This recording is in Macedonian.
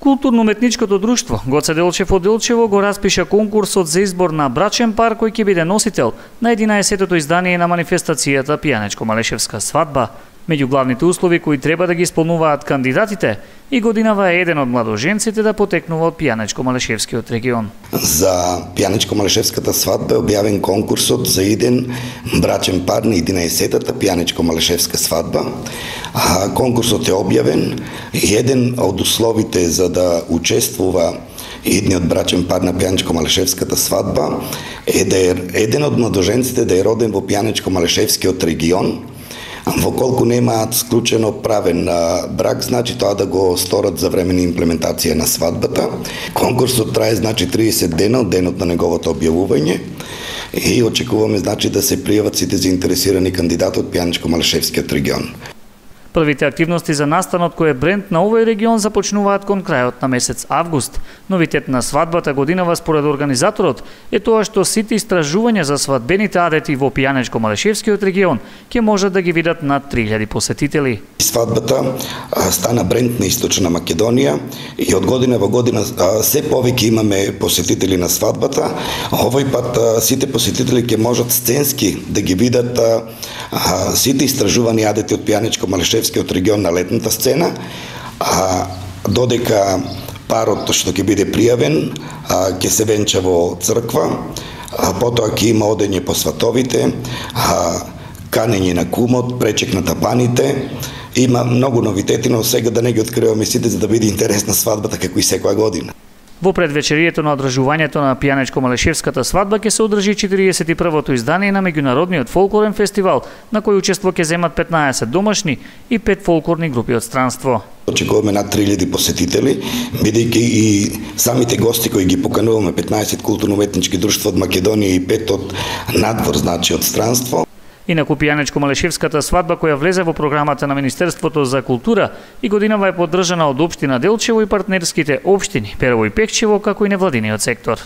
Културно-уметничкото друштво Гоце Делчев од Делчево го распиша конкурсот за избор на брачен пар кој ќе биде носител на 11-тото издание на манифестацијата Пијанечко-Малешевска свадба. Меѓу главните услови кои треба да ги исполнуваат кандидатите и годинава е еден од младоженците да потекнува од Пијанечко-Малешевскиот регион. За Пијанечко-Малешевската свадба е објавен конкурсот за еден брачен пар на 11-тата Пијанечко-Малешевска свадба. Конкурсот е објавен и еден од условите за да учествува едниот брачен пар на Пијанечко-Малешевската свадба е да е еден од младоженците да е роден во Пијанечко-Малешевскиот регион. Воколку немаат склучено правен брак, значи тоа да го сторат за време на имплементација на свадбата. Конкурсот трае 30 дена од денот на неговото објавување и очекуваме да се пријават сите заинтересирани кандидати од Пијанечко-Малешевскиот регион. Првите активности за настанот кој е бренд на овој регион започнуваат кон крајот на месец август. Новитет на свадбата годинава според организаторот е тоа што сите истражувања за свадбените адети во Пијанечко-Малешевскиот регион ќе можат да ги видат над 3000 посетители. Свадбата стана бренд на Источна Македонија и од година во година се повеќе имаме посетители на свадбата. Овој пат сите посетители ќе можат сценски да ги видат сите истражувани адети од Пијанечко-Малешевскиот регион на летната сцена, додека парот што ќе биде пријавен ќе се венча во црква, потоа ќе има одење по сватовите, канење на кумот, пречек на тапаните. Има многу новитети, но сега да не ги откриваме сите за да биде интересна свадбата како и секоја година. Во предвечерието на одржувањето на Пијанечко-Малешевската свадба ќе се одржи 41-то издание на меѓународниот фолклорен фестивал, на кој учество ќе земат 15 домашни и 5 фолклорни групи од странство. Очекуваме над 3000 посетители, бидејќи и самите гости кои ги покануваме 15 културно-уметнички друштва од Македонија и 5 од надвор, значи од странство. Инаку Пијанечко-Малешевската свадба која влезе во програмата на Министерството за култура и годинава е поддржана од општина Делчево и партнерските општини Перово и Пекчево, како и невладиниот сектор.